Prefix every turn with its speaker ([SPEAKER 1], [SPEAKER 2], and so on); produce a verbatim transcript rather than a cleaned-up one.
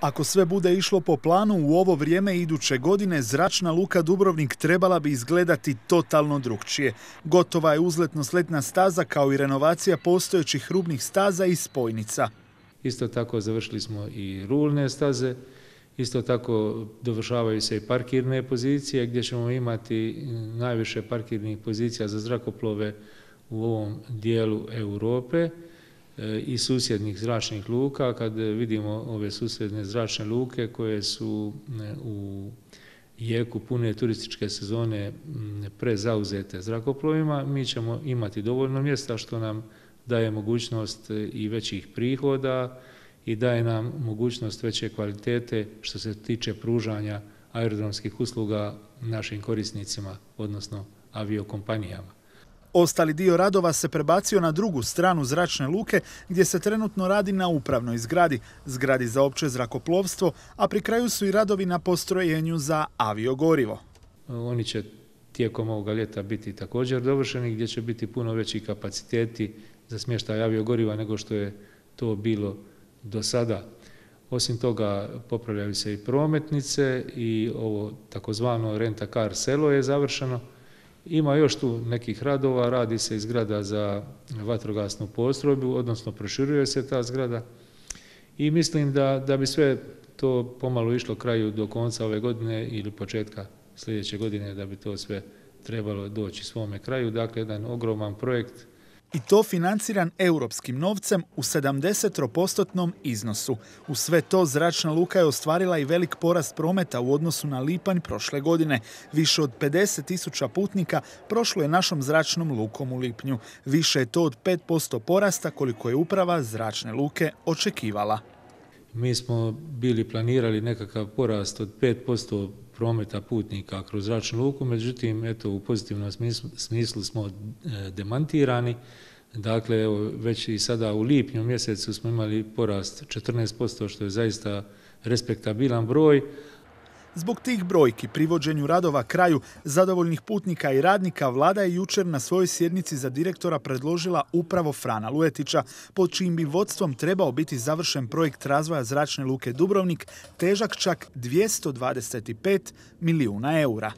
[SPEAKER 1] Ako sve bude išlo po planu, u ovo vrijeme iduće godine Zračna luka Dubrovnik trebala bi izgledati totalno drukčije. Gotova je uzletno-sletna staza kao i renovacija postojećih rubnih staza i spojnica.
[SPEAKER 2] Isto tako završili smo i rulne staze, isto tako dovršavaju se i parkirne pozicije gdje ćemo imati najviše parkirnih pozicija za zrakoplove u ovom dijelu Europe i susjednih zračnih luka. Kad vidimo ove susjedne zračne luke koje su u jeku pune turističke sezone prezauzete zrakoplovima, mi ćemo imati dovoljno mjesta što nam daje mogućnost i većih prihoda i daje nam mogućnost veće kvalitete što se tiče pružanja aerodromskih usluga našim korisnicima, odnosno aviokompanijama.
[SPEAKER 1] Ostali dio radova se prebacio na drugu stranu zračne luke gdje se trenutno radi na upravnoj zgradi, zgradi za opće zrakoplovstvo, a pri kraju su i radovi na postrojenju za aviogorivo.
[SPEAKER 2] Oni će tijekom ovoga ljeta biti također dovršeni gdje će biti puno veći kapaciteti za smještaj aviogoriva nego što je to bilo do sada. Osim toga popravljaju se i prometnice i ovo takozvano rent-a-car selo je završeno. Ima još tu nekih radova, radi se i zgrada za vatrogasnu postrojbu, odnosno proširuje se ta zgrada i mislim da, da bi sve to pomalo išlo kraju do konca ove godine ili početka sljedeće godine da bi to sve trebalo doći svome kraju. Dakle, jedan ogroman projekt.
[SPEAKER 1] I to financiran europskim novcem u sedamdeset posto iznosu. U sve to Zračna luka je ostvarila i velik porast prometa u odnosu na lipanj prošle godine. Više od pedeset tisuća putnika prošlo je našom zračnom lukom u lipnju. Više je to od pet posto porasta koliko je uprava Zračne luke očekivala.
[SPEAKER 2] Mi smo bili planirali nekakav porast od pet posto prometa putnika kroz zračnu luku, međutim, eto, u pozitivnom smislu, smislu smo demantirani. Dakle, evo, već i sada u lipnju mjesecu smo imali porast četrnaest posto, što je zaista respektabilan broj.
[SPEAKER 1] Zbog tih brojki, privođenju radova kraju, zadovoljnih putnika i radnika, vlada je jučer na svojoj sjednici za direktora predložila upravo Frana Luetića, pod čijim bi vodstvom trebao biti završen projekt razvoja Zračne luke Dubrovnik, težak čak dvjesto dvadeset pet milijuna eura.